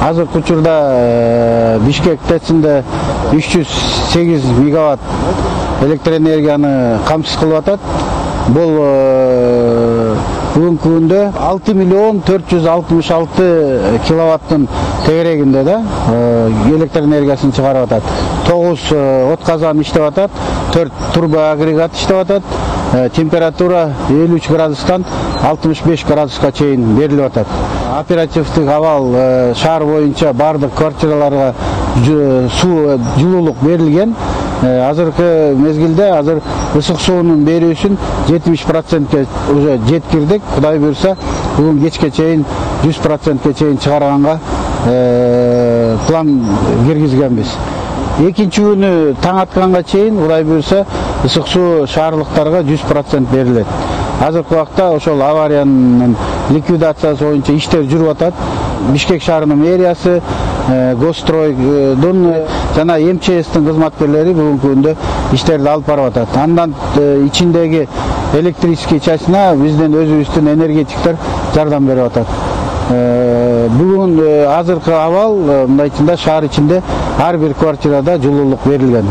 Азыркы учурда Бишкек ТЭЦинде 308 мегаватт электр энергияны камсыз кылып атат. Бул бүгүнкү күндө 6 миллион 466 киловаттын тегерегинде да электр энергиясын чыгарып атат. 9 отказан иштеп атат, 4 турбо агрегат иштеп атат. Температура 53 градустан 65 градуска чейин берилип атат. Оперативдик абал шаар боюнча бардык квартираларга жылуулук берилген. Азыркы мезгилде азыр ысык суунун берүүсүн 70%ке уже жеткирдик. Кудай буйрса, бүгүн кечке чейин 100%ке чейин чыгарганга план киргизгенбиз. Экинчи күнү таң атканга чейин Кудай буйрса, ысык суу шаарлыктарга 100% берилет. Азыркы убакта ошол авариянын ликвидациясы боюнча иштер жүрүп атат. Бишкек шаарынын мэриясы, Госстройдун жана МЧСтин кызматкерлери бүгүнкү күндө иштерди алып барып атат. Андан ичиндеги электрический частына биздин өзүбүздүн энергетиктер жардам берип атат. Бүгүн азыркы абал мындайчында шаар ичинде ар бир квартирада жылуулук берилген.